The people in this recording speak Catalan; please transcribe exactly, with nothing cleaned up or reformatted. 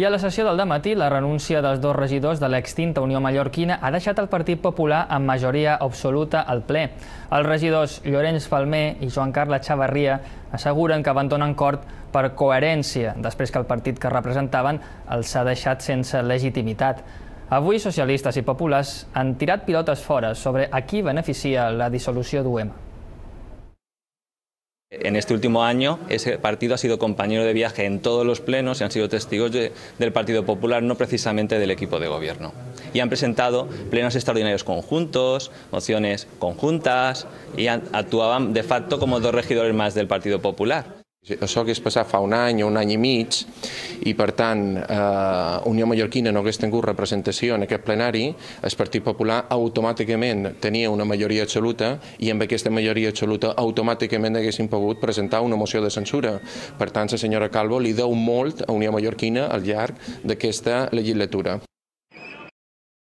I a la sessió del dematí, la renúncia dels dos regidors de l'extinta Unió Mallorquina ha deixat el Partit Popular amb majoria absoluta al ple. Els regidors Llorenç Falmer i Joan Carles Chavarria asseguren que abandonen Cort per coherència, després que el partit que representaven els ha deixat sense legitimitat. Avui, socialistes i populars han tirat pilotes fora sobre a qui beneficia la dissolució d'U E M. En este último año, ese partido ha sido compañero de viaje en todos los plenos y han sido testigos de, del Partido Popular, no precisamente del equipo de gobierno. Y han presentado plenos extraordinarios conjuntos, mociones conjuntas y han, actuaban de facto como dos regidores más del Partido Popular. Això hagués passat fa un any o un any i mig i, per tant, eh, Unió Mallorquina no hagués tingut representació en aquest plenari, el Partit Popular automàticament tenia una majoria absoluta i amb aquesta majoria absoluta automàticament haguessin pogut presentar una moció de censura. Per tant, la senyora Calvo li deu molt a Unió Mallorquina al llarg d'aquesta legislatura.